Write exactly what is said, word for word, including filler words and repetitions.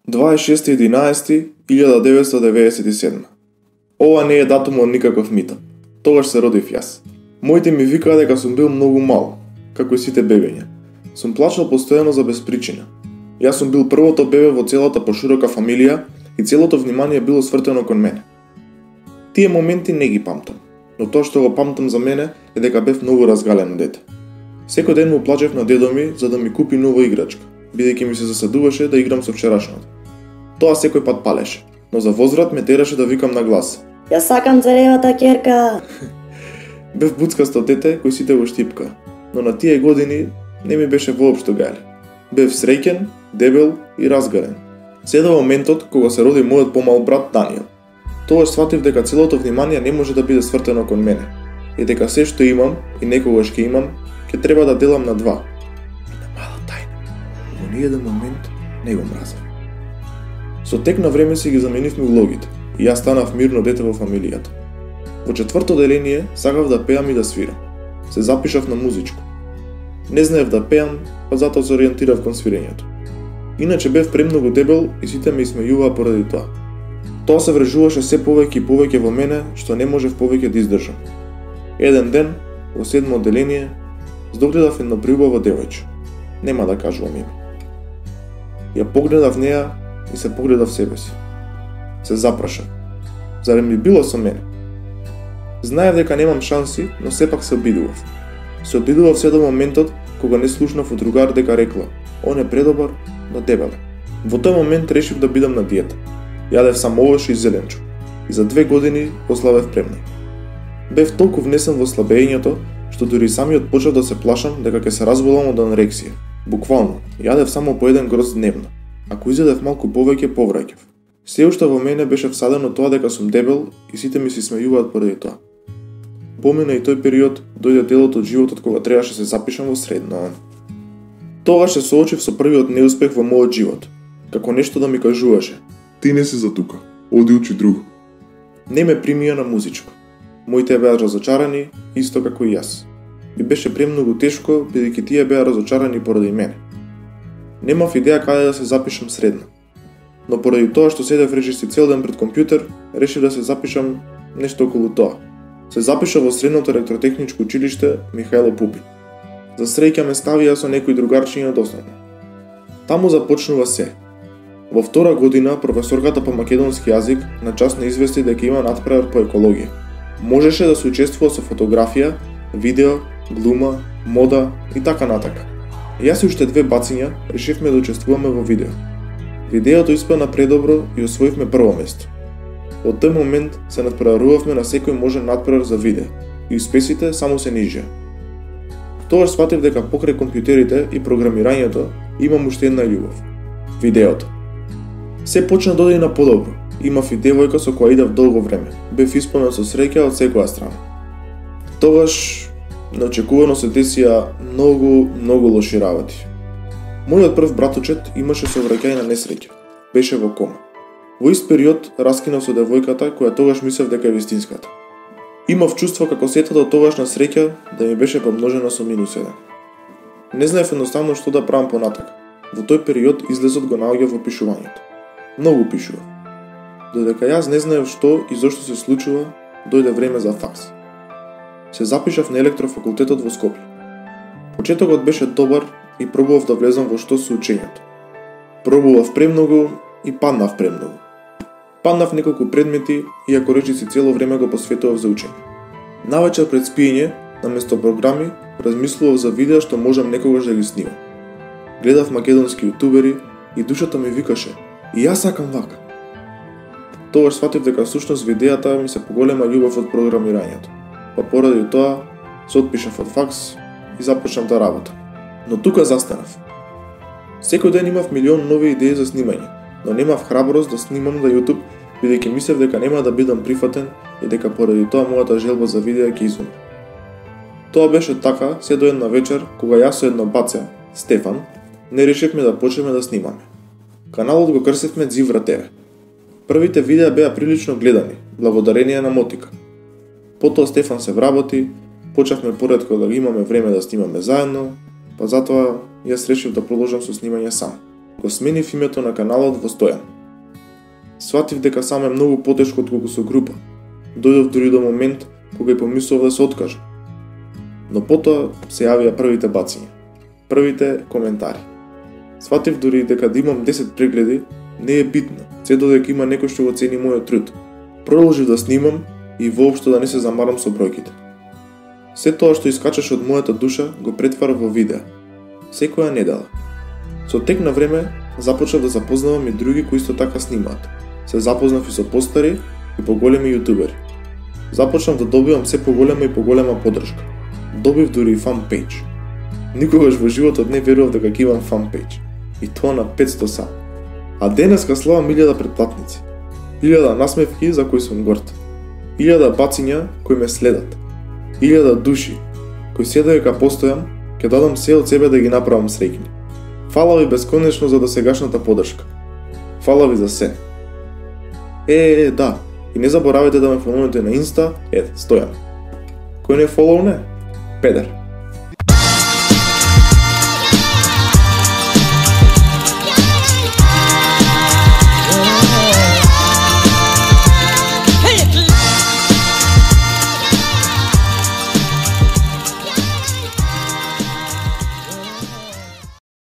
дваесет и шести единаесети илјада деветстотини деведесет и седма. Ова не е датумот никаков митап. Тогаш се родив јас. Моите ми викаа дека сум бил многу мал, како и сите бебиња. Сум плачал постојано за безпричина. Јас сум бил првото бебе во целата поширока фамилија и целото внимание било свртено кон мене. Тие моменти не ги памтам, но тоа што го памтам за мене е дека бев многу разгалено дете. Секој ден му плачев на дедо ми за да ми купи нова играчка, бидејќи ми се засадуваше да играм со вчерашното. Тоа секој пат палеше, но за возврат ме тераше да викам на глас: Ја сакам царевата ќерка. Бев буцкасто дете кој сите го штипка, но на тие години не ми беше воопшто гајле. Бев среќен, дебел и разгарен. Се до моментот кога се роди мојот помал брат Даниел. Тогаш сватив дека целото внимание не може да биде свртено кон мене и дека се што имам и некогаш ќе имам, ќе треба да делам на два. На мала тајна. Во ниеден момент не го мразев. Со тек на време си ги заменивме улогите и јас станав мирно дете во фамилијата. Во четврто деление сакав да пеам и да свирам. Се запишав на музичко. Не знаев да пеам, па затоа се ориентирав кон свирењето. Иначе бев премногу дебел и сите ме исмејуваа поради тоа. Тоа се врежуваше се повеќе и повеќе во мене, што не можев повеќе да издржам. Еден ден, во седмо одделение, здогледав една приубава девојче. Нема да кажувам име. Ја погледав неа и се погледав себе си. Се запрашав. Зарем би било со мене? Знаев дека немам шанси, но сепак се обидував. Се обидував се до моментот кога не слушнав од другар дека рекла: "Он е предобар, но дебел." Во тој момент решив да бидам на диета. Јадев само овош и зеленчо. И за две години ослабев премног. Бев толку внесен во слабењето, што дури самиот почнав да се плашам дека ќе се разболам од анорексија. Буквално, јадев само по еден гроз дневно. Ако изедев малку повеќе, повраќав. Се уште во мене беше всадено тоа дека сум дебел и сите ми се смејуваат поради тоа. Помина и тој период, дојде делот од животот кога требаше се запишам во средно. Тогаш се соочив со првиот неуспех во мојот живот. Како нешто да ми кажуваше: "Ти не си за тука, оди учи друго." Не ме примија на музичко. Моите беа разочарани, исто како и јас. И беше премногу тешко, бидејќи тие беа разочарани поради мене. Немав идеја каде да се запишам средно. Но поради тоа што седев речиси цел ден пред компјутер, решив да се запишам нешто околу тоа. Се запишав во средното електротехничко училиште Михајло Пупин. За среќа ме ставија со некои другарчиња доснадно. Таму започнува се. Во втора година професорката по македонски јазик на час не извести дека има натпревар по екологија. Можеше да се учествува со фотографија, видео, глума, мода и така натака. Јас и уште две бациња решивме да учествуваме во видео. Видеото испадна предобро и освоивме прво место. Од тој момент се надпреварувавме на секој можен натпревар за видео и успесите само се нижеа. Тогаш сватив дека покрај компјутерите и програмирањето имам уште една љубов – видеото. Се почна да оди на подобро. Имав и девојка со која идев долго време. Бев исполнет со среќа од секоја страна. Тогаш неочекувано се десија многу, многу лоши работи. Мојот прв братучет имаше совраќај на несреќа. Беше во кома. Во ист период раскинав со девојката која тогаш мислев дека е вистинската. Имав чувство како сетата од тогашна среќа да ми беше помножена со минус еден. Не знаев едноставно што да правам понатака. Во тој период излезот го наоѓа во пишувањето. Многу пишував. Додека јас не знаев што и зошто се случува, дојде време за факс. Се запишав на електрофакултетот во Скопје. Почетокот беше добар и пробував да влезам во што со учењето. Пробував премногу и паднав премногу. Паднав неколку предмети, иако речиси цело време го посветував за учење. Навечер пред спиење, наместо програми, размислував за видеа што можам некогаш да ги снимам. Гледав македонски јутубери и душата ми викаше: "И јас сакам вака." Тогаш сватив дека всушност видеата ми се поголема љубов од програмирањето. Па поради тоа се отпишав од факс и започнав да работам. Но тука застанав. Секој ден имав милион нови идеи за снимање, но немав храброст да снимам на YouTube, бидејќи мислев дека нема да бидам прифатен и дека поради тоа мојата желба за видеа ќе изумре. Тоа беше така се до една вечер кога јас со едно баце, Стефан, не решивме да почнеме да снимаме. Каналот го крстивме Дзивра те ве. Првите видеа беа прилично гледани, благодарение на мотика. Потоа Стефан се вработи, почнавме поретко да имаме време да снимаме заедно, па затоа јас решив да продолжам со снимање сам. го сменив името на каналот во Стојан. Сватив дека сам е многу потешко отколку со група. Дојдов дури до момент кога и помислов да се откажам. Но потоа се јавија првите бацања, првите коментари. Сватив дури дека да имам десет прегледи не е битно, се додека има некој што го цени мојот труд. Продолжив да снимам и воопшто да не се замарам со бројките. Се тоа што искачаше од мојата душа го претварав во видео, секоја недела. Со тек на време започнав да запознавам и други кои исто така снимаат. Се запознав и со постари и поголеми јутубери. Започнав да добивам се поголема и поголема поддршка. Добив дури и фан пејдж. Никогаш во животот не верував дека ќе имам фан пејдж. И тоа на петсто сам. А денеска славам илјада претплатници. илјада насмевки за кои сум горд. илјада бацања кои ме следат. илјада души кои се дека постојам, ќе дадам се од себе да ги направам среќни. Фала ви бесконечно за досегашната поддршка. Фала ви за се. Е, е, да, и не заборавајте да ме фоловнете на Инста, ед, Стојан. Кој не фоловне? Педер.